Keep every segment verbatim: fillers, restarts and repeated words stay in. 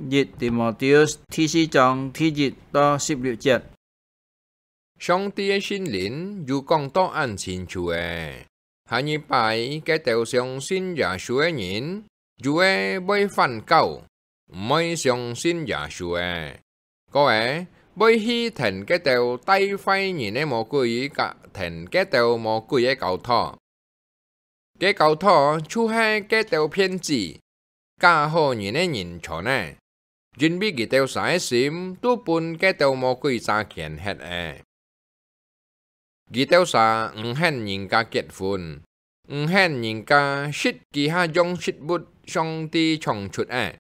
一提摩太第四章第一到十六節。上帝个聖靈有講到恁清楚个，下一擺該兜相信耶穌个人，有个會反教，毋會相信耶穌个，過个會去跈該兜帶壞人个魔鬼，佮跈該兜魔鬼个教徒。 該教徒就係該兜騙子、假好人个人傳个，因為佢兜儕个心都分該兜魔鬼詐騙忒了。佢兜儕毋肯人家結婚，毋肯人家食其他樣食物上帝創出个，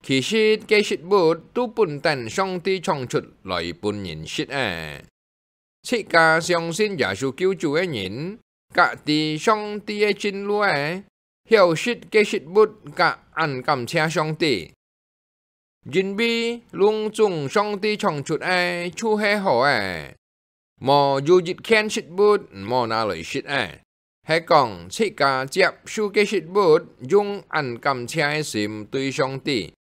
其實該食物都本等上帝創出來分人食个。自家相信耶穌救主个人，佮知上帝个真路个，曉食該食物佮恁感謝上帝。因為攏總上帝創出个就係好个，無有一件食物毋好拿來食个。 係講自家接受該食物，用恁感謝个心對上帝，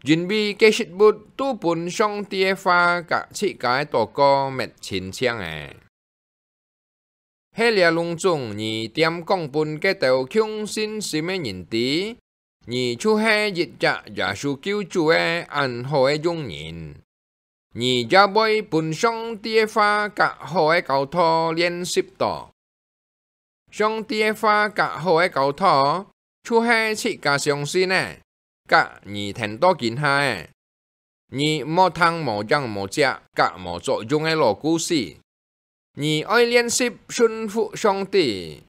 因為該食物都分上帝个話佮自家个禱告搣清淨了。係這攏總你恬講分該兜共信心个人知，你就係一隻耶穌救主个恁好个用人。 你也會分上帝个話佮好个教導練習到。上帝个話佮好个教導，就係自家相信个，佮你聽到今下个。你毋好聽無影無跡佮無作用个老故事。你愛練習順服上帝。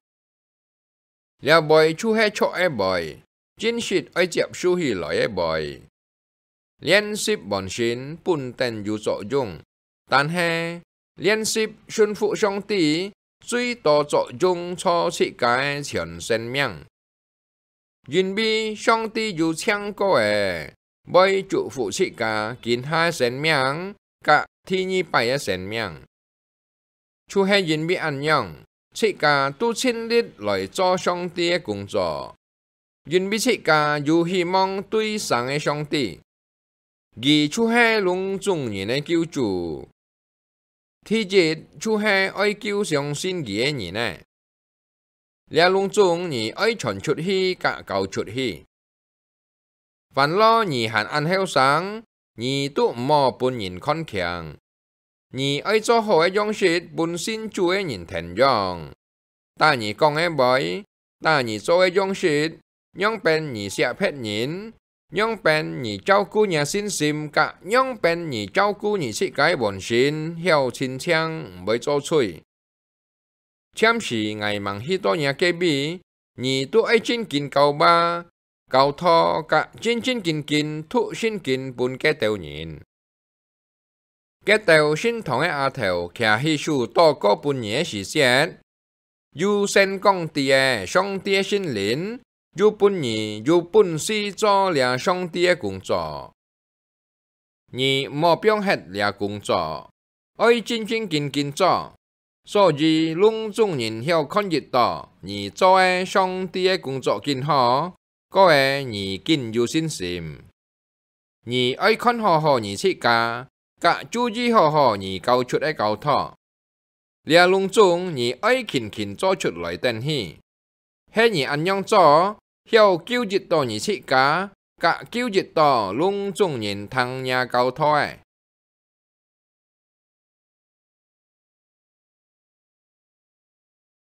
這話就係著个話，真實愛接受起來个話。練習完成本等有作用，但係練習順服上帝，最多作用在自家个全生命。因為上帝有請過个，會祝福自家今下个生命佮第二擺个生命。 就係因為恁樣，自家都盡力來做上帝个工作，因為自家有希望對生个上帝，佢就係攏總人个救主。第一，就係愛救相信佢个人呢。 這攏總你愛傳出去佮教出去。凡落你還恁後生，你都毋好分人看輕。你愛做好个樣式分信主个人跈樣。打你講个話，打你做个樣式，仰般你惜別人， 仰般你照顧若信心，佮仰般你照顧你自家个本性，曉清淨，毋會做罪。暫時𠊎吂去到若隔壁，你都愛正經教話、教導，佮正正經經讀聖經分該兜人。 該兜聖堂个阿頭擎起手禱告分你个時節，有宣講知个上帝个聖靈，有分你有本事做這上帝个工作。你毋好放忒這工作，愛正正經經做，所以攏總人曉看得到你做个上帝个工作緊好，過个你緊有信心。 你愛看好好你自家，佮注意好好你教出个教導。這攏總你愛勤勤做出來等去。係你恁樣做，曉救得到你自家，佮救得到攏總人聽若教導个。